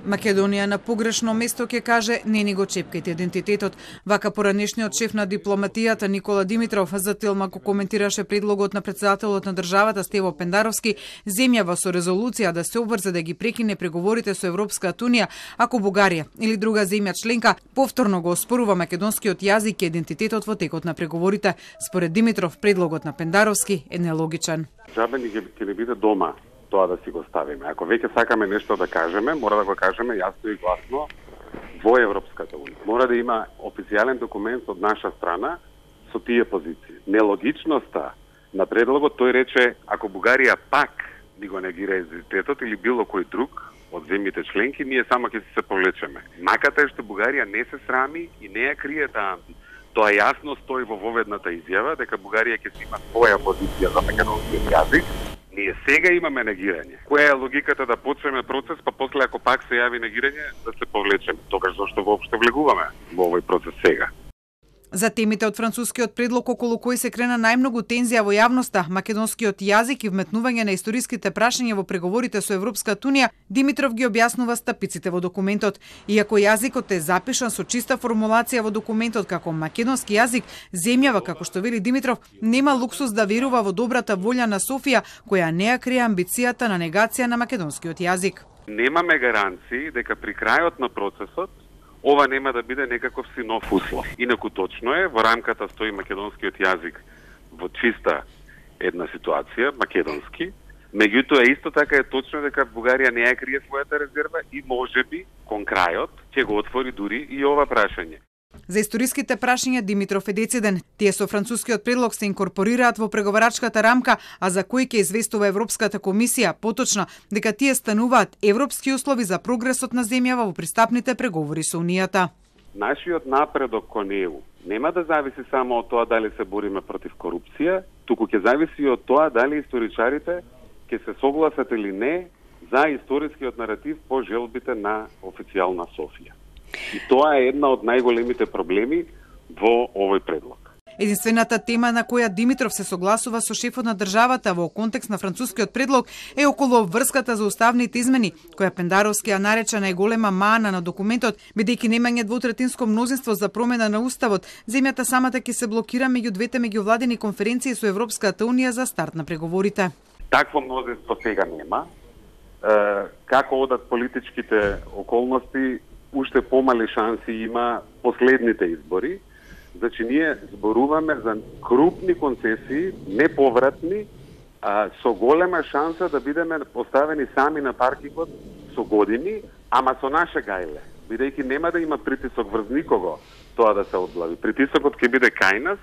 Македонија на погрешно место ќе каже не ни го чепкајте идентитетот. Вака поранешниот шеф на дипломатијата Никола Димитров за Телмак коментираше предлогот на претседателот на државата Стево Пендаровски, земјава со резолуција да се обврзе да ги прекине преговорите со Европската унија ако Бугарија или друга земја членка повторно го оспорува македонскиот јазик и идентитетот во текот на преговорите. Според Димитров, предлогот на Пендаровски е нелогичен. Джабе ќе не биде дома тоа да си го ставиме. Ако веќе сакаме нешто да кажеме, мора да го кажеме јасно и гласно во Европската унија. Мора да има официјален документ од наша страна со тие позиции. Нелогичноста на предлогот, тој рече, ако Бугарија пак ни го негира идентитетот или било кој друг од земјите членки, ние само ќе се повлечеме. Маката е што Бугарија не се срами и не ја крие таа амбиција. Тоа јасно стои во воведната изјава дека Бугарија ќе си има своја позиција за македонскиот јазик. Ние сега имаме негирање. Која е логиката да почнеме процес, па после ако пак се јави негирање, да се повлечеме? Тогаш зошто воопшто влегуваме во овој процес сега? За темите од францускиот предлог околу кој се крена најмногу тензија во јавноста, македонскиот јазик и вметнување на историските прашања во преговорите со Европската унија, Димитров ги објаснува стапиците во документот. Иако јазикот е запишан со чиста формулација во документот како македонски јазик, земјава, како што вели Димитров, нема луксус да верува во добрата волја на Софија, која не ја крие амбицијата на негација на македонскиот јазик. Немаме гаранции дека при крајот на процесот ова нема да биде некаков си нов услов. Инаку точно е, во рамката стои македонскиот јазик во чиста една ситуација, македонски. Меѓутоа исто така е точно дека Бугарија не ја крие својата резерва и можеби кон крајот ќе го отвори дури и ова прашање. За историските прашања Димитров е дециден. Тие со францускиот предлог се инкорпорираат во преговарачката рамка, а за кои ќе известува Европската комисија, поточно дека тие стануваат европски услови за прогресот на земјава во пристапните преговори со Унијата. Нашиот напредок кон ЕУ нема да зависи само од тоа дали се бориме против корупција, туку ќе зависи од тоа дали историчарите ќе се согласат или не за историскиот наратив по желбите на официјална Софија. И тоа е една од најголемите проблеми во овој предлог. Единствената тема на која Димитров се согласува со шефот на државата во контекст на францускиот предлог е околу врската за уставните измени, која Пендаровски ја нарече најголема мана на документот, бидејќи немање двотретинско мнозинство за промена на уставот, земјата самата ќе се блокира меѓу двете меѓувладини конференции со Европската унија за старт на преговорите. Такво мнозинство сега нема. Како одат политичките околности, уште помали шанси има последните избори. Значи, ние зборуваме за крупни концесии, неповратни, со голема шанса да бидеме поставени сами на паркингот со години, ама со наше гајле. Бидејќи нема да има притисок врз никого тоа да се одглави. Притисокот ќе биде кај нас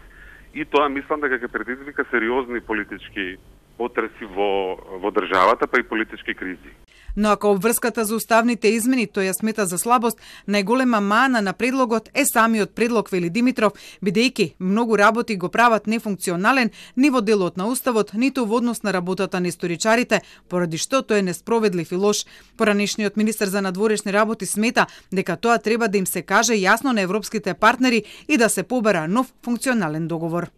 и тоа мислам дека ќе предизвика сериозни политички потреси во државата, па и политички кризи. Но ако обврската за уставните измени тој ја смета за слабост, најголема мана на предлогот е самиот предлог, вели Димитров, бидејќи многу работи го прават нефункционален ни во делот на уставот, ниту во однос на работата на историчарите, поради што тој е несправедлив и лош. Поранешниот министер за надворешни работи смета дека тоа треба да им се каже јасно на европските партнери и да се побара нов функционален договор.